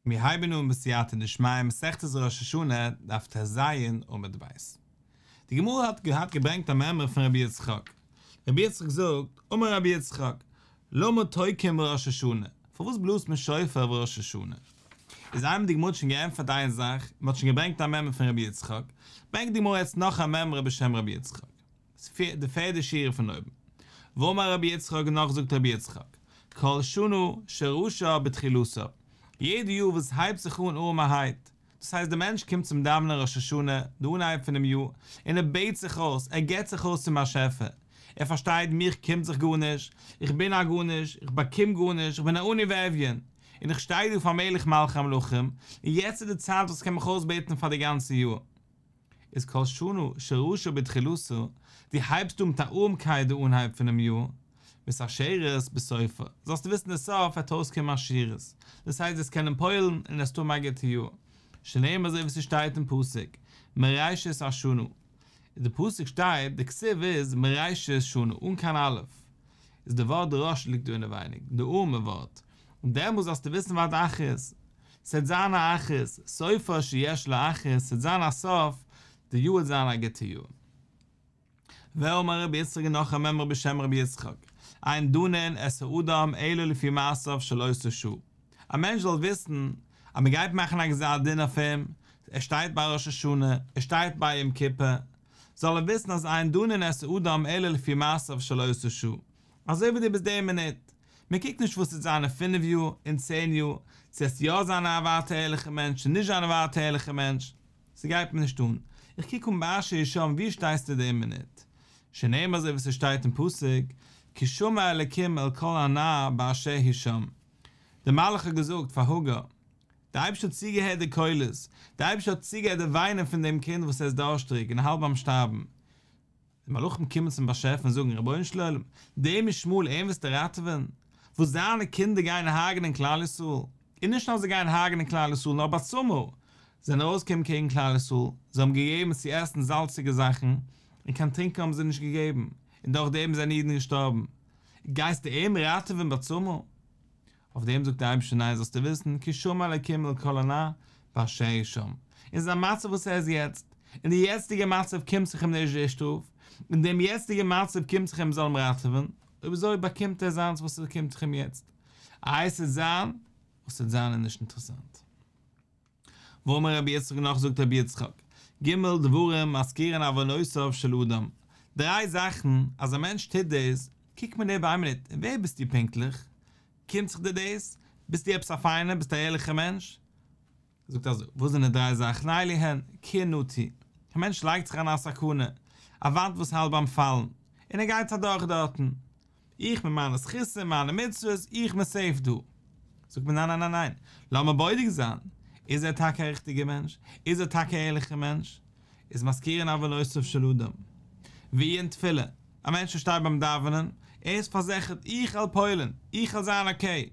מיר הייבן אן בסייעתא דשמיא מסכת ראש השנה דף טז עמוד ב'. די גמרא האט געהאט געברענגט א מימרא פון רבי יצחק. רבי יצחק זאגט, אמר רבי יצחק, למה תוקעין בראש השנה, פארוואס בלאזט מען שופר בראש השנה? איז איינמאל די גמרא האט שוין געענטפערט איין זאך, מען האט שוין געברענגט א מימרא פון רבי יצחק, ברענגט די גמרא יעצט נאך א מימרא בשם רבי יצחק. די פערדע שורה פון אויבן. ואמר רבי יצחק און נאך זאגט רבי יצחק, כל שנה שראשה בתחילתה, יעדע יאר וואס הייבט זיך אן ארעמערהייט, דאס הייסט דער מענטש קומט צום דאווענען ראש השנה, די אנהייב פונעם יאר, און ער בעט זיך אויס, ער געבט זיך אויס צום באשעפער, ער פארשטייט מיך קומט זיך גארנישט, איך בין א גארנישט, איך באקום גארנישט, איך בין א עני ואביון, און איך שטיי דא פאר מלך מלכי המלכים, און יעצט איז די צייט וואס איך קען מיך אויסבעטן פאר די גאנצע יאר. איז כל שנה שראשה בתחילתה, דו הייבסט אן מיט א ארעמקייט די אנהייב פונעם יאר, מתעשרת בסופה, זאלסטו וויסן די סוף וועט אויסקומען עשירות, דאס הייסט וועסט קענען פועל'ן און וועסט האבן א גוטע יאר, שנאמר אזוי ווי ס'שטייט אין פסוק, מראשית השנה, די פסוק שטייט, די כתיב איז מראשית שנה, אן קיין אלף, איז די ווארט ראש ליגט דא אינעווייניג, די ארעמע ווארט, און דעמאלס זאלסטו וויסן ועד אחרית, ס'עט זיין א אחרית, סופה שיש לה אחרית, ס'עט זיין א סוף, די יאר וועט זיין א גוטע יאר. ואמר רבי יצחק און נאך א מימרא בשם רבי יצחק, אין דנין את האדם אלא לפי מעשיו של אותה שעה. א מענטש זאל וויסן אז מען גייט מאכן א גזר דין אויף אים, ער שטייט ביי ראש השנה, ער שטייט ביי יום כיפור, זאל ער וויסן אז אין דנין את האדם אלא לפי מעשיו של אותה שעה. אזוי ווי דו ביסט די מינוט. מען קוקט נישט וואס וועט זיין אין פינף יאר, אין צען יאר, צו עסט יא זיין א ווייטער ערליכע מענטש צו נישט זיין א ווייטער ערליכע מענטש, ס'גייט מיר נישט אן, איך קוק אן באשר הוא שם וואו שטייסטו די מינוט, שנאמר אזוי ווי ס'שטייט אין פסוק, כי שמע אלקים אל קול הנער באשר הוא שם, דער מלאך האט געזאגט פאר הגר, דער אייבערשטער האט צוגעהערט די קולות, דער אייבערשטער האט צוגעהערט די וויינען פון דעם קינד וואס ער איז דארשטריג און האלט ביים שטארבן, די מלאכים קומען צום באשעפער און זאגן, רבונו של עולם, דעם ישמעאל אים וועסטו ראטעווען? וואס זיינע קינדער גייען הרג'נען כלל ישראל? און נישט נאר זיי גייען הרג'נען כלל ישראל, נאר בצמא זענען ארויסגעקומען קעגן כלל ישראל, זיי האבן געגעבן צו עסן זאלציגע זאכן, און קיין טרינקען האבן זיי נישט געגעבן, און דורך דעם זענען אידן געשטארבן. גייסטו אים ראטעווען בצמא? אויף דעם זאגט דער אייבערשטער ניין זאלסטו וויסן כי שמע אלקים אל קול הנער באשר הוא שם, אין זיין מצב וואס ער איז יעצט, אין די יעצטיגע מצב קומט זיך אים נישט די שטראף, אין דעם יעצטיגע מצב קומט זיך אים מ'זאל אים ראטעווען, אויב אזוי באקומט ער זיינס וואס עס קומט זיך אים יעצט, איי עס וועט זיין וואס עס וועט זיין איז נישט אינטערעסאנט. ואמר רבי יצחק נאך זאגט רבי יצחק, ג' דברים מזכירין עוונותיו של אדם, דריי זאכן אז א מענטש טוט דאס, קוקט מען איבער איין מינוט, ווער ביסטו פונקטליך? קומט זיך דיר דאס? ביסטו עפעס א פיינער? ביסטו א ערליכער מענטש? זאגט אזוי, וואס זענען די דריי זאכן? אלו הן, קיר נטוי, א מענטש לייגט זיך אריין א סכנה, א וואנט וואס האלט ביים פאלן, און ער גייט אדורך דארטן, איך מיט מיינע זכותים, מיינע מצוות, איך בין סעיף דא. זאגט מען ניין ניין ניין ניין, לאמיר בודק זיין, איז ער טאקע א ריכטיגער מענטש? איז ער טאקע א ערליכער מענטש? איז מזכירין עוונותיו של אדם. ועיון תפילה, א מענטש וואס שטייט ביים דאווענען, ער איז פארזיכערט, איך וועל פועל'ן, איך וועל זיין אקעי.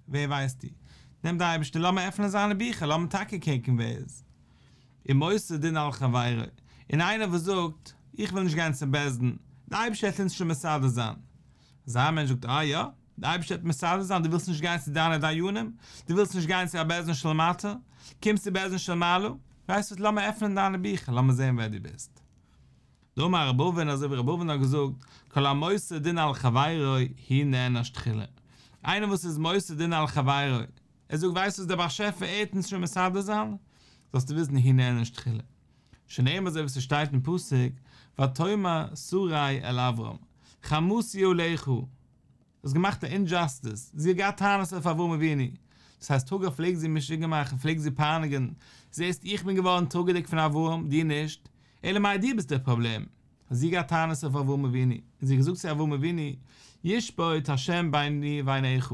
ווער ווייסטו? נעמט דער אייבערשטער, לאמיר עפענען זיינע ביכער, לאמיר טאקע קוקן ווער ער איז. ומוסר דין על חברו, און איינער וואס זאגט, איך וויל נישט גיין צום בית דין, דער אייבערשטער וועט אונז שוין מסדר זיין. אזא מענטש זאגט, אה יא? דער אייבערשטער וועט מסדר זיין, דו ווילסט נישט גיין צו דיינע דיינים? דו ווילסט נישט גיין צו א בית דין של מטה? קומסט צו בית דין של מעלה? ווייסט וואס, לאמיר עפענען דיינע ביכער, לאמיר זען ווער דו ביסט. דאמר רב אבין אזוי ווי רב אבין האט געזאגט, כל המוסר דין על חברו הוא נענש תחילה. איינער וואס איז מוסר דין על חברו, ער זאגט ווייסט וואס דער באשעפער ער וועט אונז שוין מסדר זיין, זאלסטו וויסן הוא נענש תחילה. שנאמר אזוי ווי ס'שטייט אין פסוק, ותאמר שרי אל אברם, חמסי עליך, האסט געמאכט א אינדזשאסטיס, זי האט געהאט טענות אויף אברהם אבינו, דאס הייסט הגר פלעגט זי משוגע מאכן, פלעגט זי פייניגן, זעסט איך בין געווארן טראגעדיג פון אברהם, דו נישט, אלא מאי דו ביסט דער פראבלעם, האט זי געהאט טענות אויף אברהם אבינו, און זי האט געזאגט צו אברהם אבינו, ישפוט ה' ביני ובינך,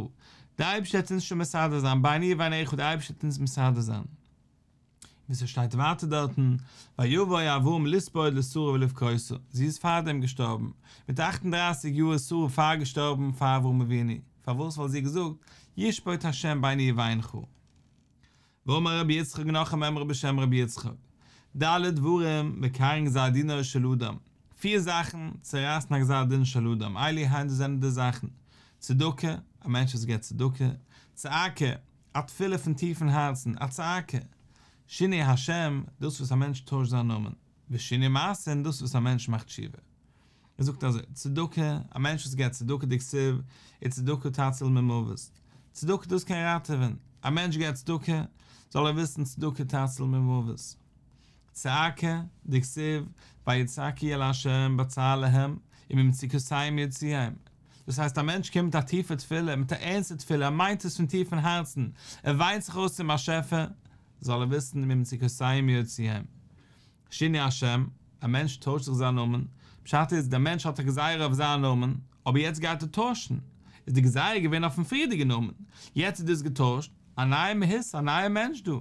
דער אייבערשטער וועט אונז שוין מסדר זיין, ביני ובינך, דער אייבערשטער וועט אונז מסדר זיין. ווי ס'שטייט ווייטער דארטן, ויבא אברהם לספוד לשרה ולבכותה, זי איז פארדעם געשטארבן, מיט אכט און דרייסיג יאר איז שרה פאר געשטארבן פאר אברהם אבינו, פארוואס? ווייל זי האט געזאגט, ישפוט ה' ביני ובינך. ואמר רבי יצחק נאך א מימרא בשם רבי יצחק, ד' דברים מקרעין גזר דינו של אדם, פיר זאכן צערייסן א גזר דין של אדם, אלו הן דאס זענען די זאכן, צדקה, א מענטש וואס געבט צדקה, צעקה, א תפילה פון טיפן הארצן, א צעקה, שינוי השם, דאס וואס א מענטש טוישט זיין נאמען, ושינוי מעשה און דאס וואס א מענטש מאכט תשובה. ער זאגט אזוי, צדקה, א מענטש וואס געבט צדקה דכתיב, וצדקה תציל ממוות, צדקה דאס קען ראטעווען, א מענטש געבט צדקה, זאל ער וויסן צדקה תציל ממוות. צעקה, דכתיב, ויצעקו אל ה' בצר להם, וממצוקותיהם יוציאם. דאס הייסט א מענטש קומט מיט א טיפע תפילה, מיט א ערנסטע תפילה, ער מיינט עס פון טיפן הארצן, ער וויינט זיך אויס צום באשעפער, זאל ער וויסן ממצוקותיהם יוציאם. שינוי השם, א מענטש טוישט זיך זיין נאמען, פשט איז דער מענטש האט א גזירה אויף זיין נאמען, אבער יעצט גייט ער טוישן, איז די גזירה געווען אויפן פריערדיגן נאמען, יעצט איז דאס געטוישט, א נייע מהות, א נייע מענטש דא.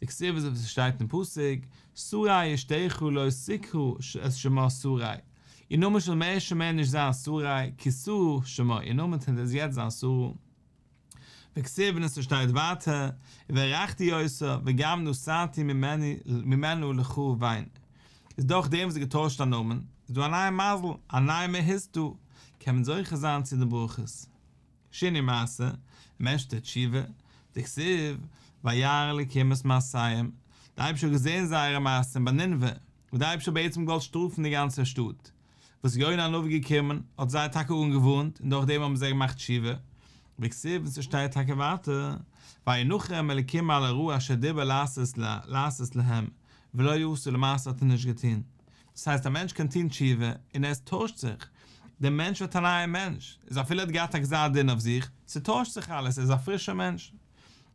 דכתיב אזוי ווי ס'שטייט אין פסוק, שרי אשתך לא תקרא את שמה שרי, איר נאמען זאל מער שוין מער נישט זיין שרי, כי שרה שמה, איר נאמען וועט יעצט זיין שרה. וכתיב און עס שטייט ווייטער, וברכתי אותה וגם נתתי ממנה לך בן. איז דורך דעם וואס זי געטוישט א נאמען, איז דא א נייע מזל, א נייע מהות דא, קען מען זוכה זיין צו די ברכות. שינוי מעשה, מענטש טוט תשובה, דכתיב, וירא אלקים את מעשיהם, די אייבערשטער האט געזען זייערע מעשים ביי נינוה, וואס די אייבערשטער האט בעצם געוואלט שטראפן די גאנצע שטאט, וואס יונה הנביא געקומען האט זיי טאקע אנגעווארנט און דורך דעם האבן זיי געמאכט תשובה, וכתיב און ס'שטייט טאקע ווייטער, וינחם אלקים על הרעה אשר דיבר לעשות להם, ולא עשה למעשה האט ער נישט געטון. דאס הייסט א מענטש קען טון תשובה און עס טוישט זיך, דער מענטש ווערט א נייער מענטש, איז אפילו ער האט געהאט א גזר דין אויף זיך, ס'טוישט זיך אלעס, ער איז א פרישער מענטש.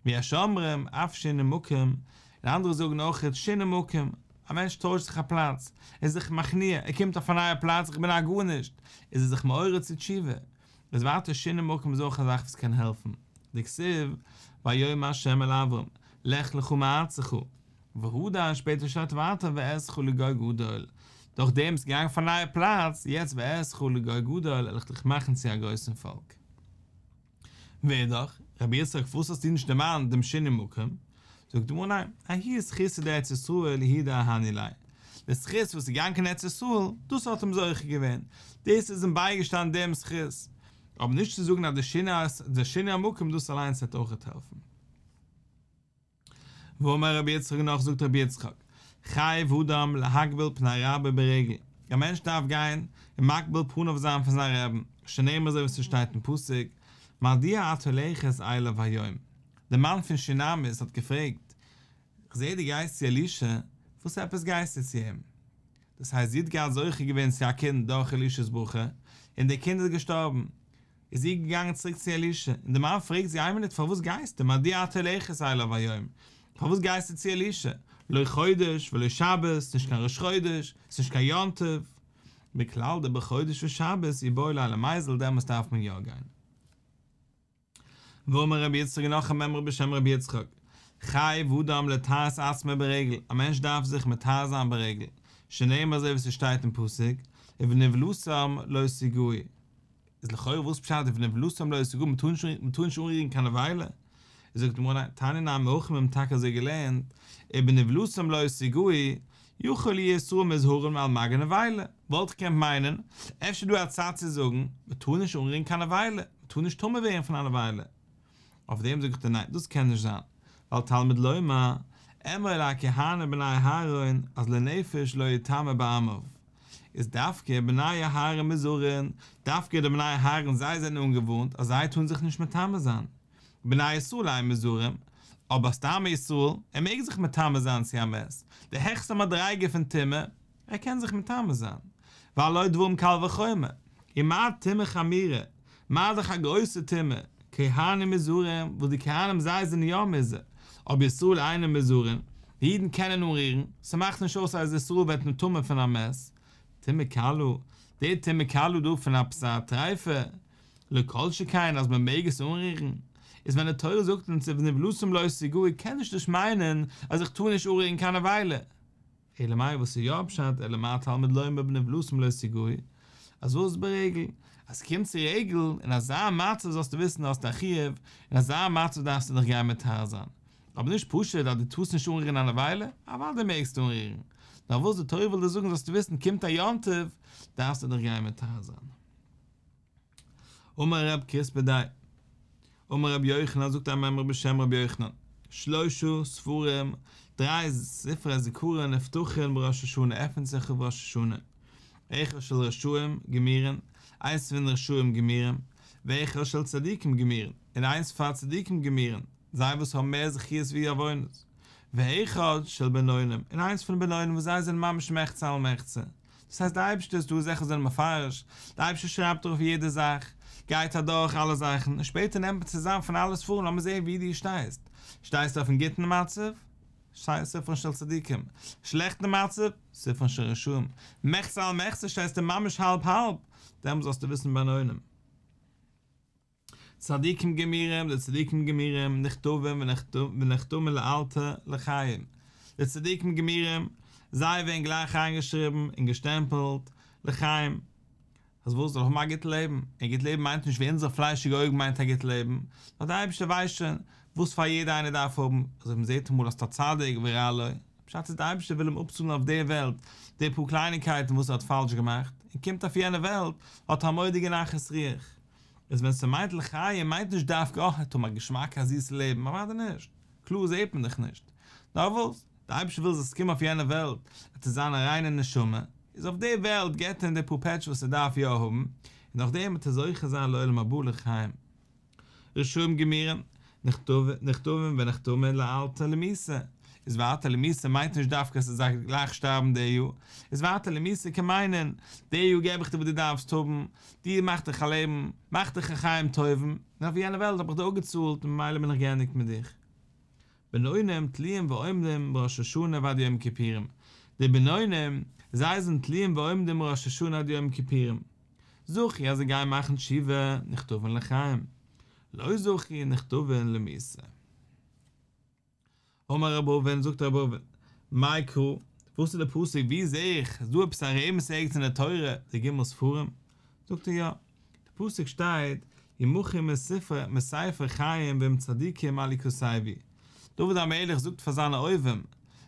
ויש אומרים אף שינוי מקום, און אנדערע זאגן אויך שינוי מקום, א מענטש טוישט זיך א פלאץ, ער איז זיך מכניע, ער קומט אויף א נייע פלאץ, איך בין א גארנישט, איז ער זיך מעורר צו תשובה. איז ווייטער שינוי מקום איז אויך א זאך וואס קען העלפן. דכתיב, ויאמר ה' אל אברם, לך לך מארצך, והדר און שפעטער שטייט ווייטער ואעשך לגוי גדול, דורך דעם ביסט געגאנגען אויף א נייע פלאץ, יעצט ואעשך לגוי גדול, וועל איך דיך מאכן צו א גרויסן פאלק. ואידך, רבי יצחק פארוואס האסטו נישט דערמאנט דעם שינוי מקום? זאגט די גמרא ניין, ההוא זכותא דארץ ישראל הוא דאהני ליה, די זכות וואס איז געגאנגען קיין ארץ ישראל, דאס האט אים זוכה געווען, דאס איז אים בייגעשטאנען דעם זכות, אבער נישט צו זאגן אז די שינוי המקום דאס אליינס וועט אויכעט העלפן. ואמר רבי יצחק נאך זאגט רבי יצחק, חייב אדם להקביל פני רבו ברגל, א מענטש דארף גיין און מקביל פניו זיין פון זיין רעבן, שנאמר אזוי ווי ס'שטייט אין פסוק, מדוע את הולכת אליו היום, דער מאן פון שונמית האט געפרעגט, כ'זעה דו גייסט צו אלישע, וואס עפעס גייסטו צו אים? דאס הייסט זי האט געהאט זוכה געווען צו א קינד דורך אלישע'ס ברכה, און דער קינד איז געשטארבן, איז זי געגאנגען צוריק צו אלישע, און דער מאן פרעגט זי איין מינוט פארוואס גייסטו, מדוע את הולכת אליו היום, פארוואס גייסטו צו אלישע, לא חודש ולא שבת, נישט קיין ראש חודש, ס'איז נישט קיין יום טוב, מכלל דבחודש ושבת איבעי ליה למיזל דעמאלס דארף מען יא גיין. ואמר רבי יצחק נאך א מימרא בשם רבי יצחק, חייב אדם לטהר את עצמו ברגל, א מענטש דארף זיך מטהר זיין ברגל, שנאמר אזוי ווי ס'שטייט אין פסוק, ובנבלתם לא תגעו. איז לכאורה וואס פשט ובנבלתם לא תגעו מ'טאר נישט מ'טאר נישט אנרירן קיין נבילה? איז זאגט די גמרא ניין, תניא נמי הכי מיר האבן טאקע אזוי געלערנט, ובנבלתם לא תגעו, יכול יהו ישראל מוזהרין על מגע נבילה, וואלט איך געקענט מיינען, אפשר איז דא א צד צו זאגן, מ'טאר נישט אנרירן קיין נבילה, מ'טאר נישט טמא ווערן פון א נבילה. אויף דעם זאג איך דיר ניין, דאס קען נישט זיין, ווייל תלמוד לומר, אמור אל הכהנים בני אהרן, אז לנפש לא יטמא בעמיו. איז דווקא בני אהרן מוזהרין, דווקא די בני אהרן זיי זענען אנגעווארנט אז זיי טארן זיך נישט מטמא זיין. בני ישראל אין מוזהרין, אבער סתם א ישראל, ער מעג זיך מטמא זיין צו א מת, די העכסטע מדריגה פון טומאה, ער קען זיך מטמא זיין, והלא דברים קל וחומר, ומה טומאה חמורה, מה דאך א גרויסע טומאה, כהנים מוזהרין, וואס די כהנים זיי זענען יא מוזהר, אבער ישראל אינם מוזהרין, די אידן קענען אנרירן, ס'מאכט נישט אויס אז ישראל ווערט נטמא פון א מת, טומאה קלה, די טומאה קלה דא פון עפעס א טריפה, לא כל שכן אז מען מעג עס אנרירן, איז ווען די תורה זאגט אונז ובנבלתם לא תגעו קען נישט דאס מיינען אז איך טאר נישט אנרירן קיין נבילה. אלא מאי וואס איז יא פשט אלא מה תלמוד לומר ובנבלתם לא תגעו, אז וואס ברגל, אז ס'קומט צו רגל, אין אזא מצב זאלסטו וויסן האסטו א חיוב, אין אזא מצב דארפסטו דיך גיין מטהר זיין, אבער נישט פשוט אז דו טארסט נישט אנרירן א נבילה, אוודאי מעגסטו אנרירן, נאר וואס די תורה וויל דיר זאגן זאלסטו וויסן קומט א יום טוב דארפסטו דיך גיין מטהר זיין. אמר רב כספא די. אמר רבי יוחנן זאגט א מימרא בשם רבי יוחנן, שלשה ספרים, דריי ספרי זכרון נפתחין בראש השנה עפענט זיך אויף ראש השנה, אחד של רשעים גמורין, איינס פון רשעים גמורים, ואחד של צדיקים גמורין, און איינס פאר צדיקים גמורין, זיי וואס האבן מער זכיות ווי עוונות, ואחד של בינונים, און איינס פון בינונים וואס זיי זענען ממש מחצה על מחצה, דאס הייסט די אייבערשטער איז דא זאכן זענען מפרש, די אייבערשטער שרייבט אויף יעדע זאך, גייט אדורך אלע זאכן, און שפעטער נעמט מען צוזאם פון אלע ספרים לאמיר זען ווי דו שטייסט, שטייסטו אויפן גוטן מצב? ספרן של צדיקים, שלעכטן מצב? ספרן של רשעים, מחצה על מחצה שטייסטו ממש האלב האלב, דעמאלס זאלסטו וויסן בינונים. צדיקים גמורים, די צדיקים גמורים, נכתבים ונחתמים לאלתר לחיים, די צדיקים גמורים, זיי ווערן גלייך איינגעשריבן און געשטעמפלט לחיים, אז וואס, זאל האבן א גוט לעבן, און גוט לעבן מיינט נישט ווי אונזערע פליישיגע אויגן מיינט א גוט לעבן, נאר דער אייבערשטער ווייסט שוין וואס פאר יעדער איינער דארף האבן, אזוי ווי מען זעט אמאל אז א צדיק ורע לו, פשט איז דער אייבערשטער וויל אים אפצאלן אויף דער וועלט די פאר קלייניקייטן וואס ער האט פאלש געמאכט, און קומט אויף יענע וועלט האט ער א מורא'דיגע נחת רוח. איז ווען ס'מיינט לחיים מיינט נישט דווקא אה ער האט א געשמאק א זיסע לעבן, אוודאי נישט, קלאר זעט מען דאך נישט, נאר וואס, דער אייבערשטער וויל זאלסט קומען אויף יענע וועלט וועט עס זיין א ריינע נשמה, איז אויף די וועלט געבט ער אים די פאר פעטש וואס ער דארף יא האבן, און נאכדעם וועט ער זוכה זיין לעולם הבא לחיים. רשעים גמורים, נכתבים ונחתמין לאלתר למיתה, איז ווייטער למיתה מיינט נישט דווקא אז ער זאל גלייך שטארבן די יאר, איז ווייטער למיתה קען מיינען, די יאר געב איך דיר וואס דו דארפסט האבן, דו מאך דיך א לעבן, מאך דיך א חיים טובים, און אויף יענע וועלט האב איך דיר אפגעצאלט און ממילא בין איך געענדיגט מיט דיך. בינונים תלויים ועומדים מראש השנה ועד יום כיפורים, די בינונים, זיי זענען תלויים ועומדים מראש השנה עד יום כיפורים. זכו אז זיי גייען מאכן תשובה, נכתבין לחיים. לא זכו נכתבין למיתה. אמר רב אבין, זאגט רב אבין, מאי קרא, וואס איז די פסוק, ווי זעה איך, איז דא עפעס א רמז ערגעץ אין די תורה, די ג' ספרים? זאגט ער יא, די פסוק שטייט, ימחו מספר מספר חיים ועם צדיקים אל יכתבו, דוד המלך זאגט פאר זיינע אויבים,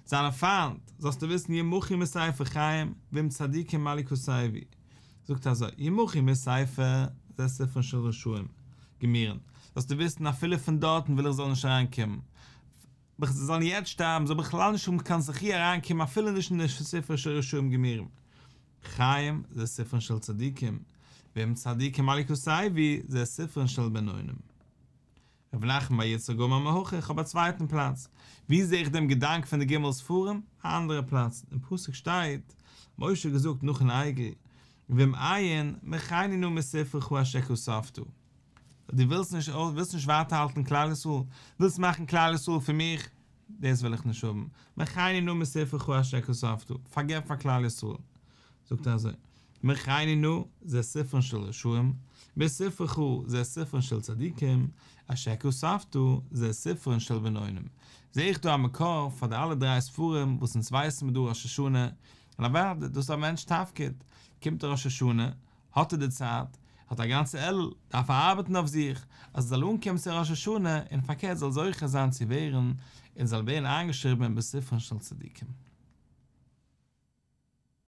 זיינע פיינט, זאלסטו וויסן ימחו מספר חיים ועם צדיקים אל יכתבו, זאגט ער אזוי, ימחו מספר זה ספרן של רשעים, גמורים, זאלסטו וויסן אפילו פון דארטן וויל איך זאל נישט אריינקומען, זיי זאלן יעצט שטארבן, זאל בכלל נישט האבן קיין זכי' אריינקומען אפילו נישט אין די ספר של רשעים גמורים. חיים זה ספרן של צדיקים, ועם צדיקים אל יכתבו זה ספרן של בינונים. רב נחמן בר יצחק אמר מהכא, איך האב א צווייטן פלאץ. ווי זעה איך דעם געדאנק פון די ג' ספרים? א אנדערע פלאץ, אין פסוק שטייט, משה האט געזאגט נאכן עגל, ואם אין, מחני נא מספרך אשר כתבת. דו ווילסט נישט ווילסט נישט ווייטער האלטן כלל ישראל? ווילסט מאכן כלל ישראל פון מיך? דאס וויל איך נישט האבן. מחני נא מספרך אשר כתבת, פארגעב פאר כלל ישראל. זאגט ער אזוי, מחני נא זה ספרן של רשעים, מספרך זה ספרן של צדיקים, אשר כתבת זה ספרן של בינונים. זעה איך דא א מקור פאר די אלע דריי ספרים וואס אונז ווייסן מיר דא ראש השנה, און אוודאי דאס איז א מענטש'ס תפקיד, קומט ראש השנה, האט ער די צייט, האט א גאנצע אלול, דארף ער ארבעטן אויף זיך, אז ער זאל אנקומען צו ראש השנה, און פארקערט זאל זוכה זיין צו ווערן, און זאל ווערן איינגעשריבן אין בספרן של צדיקים.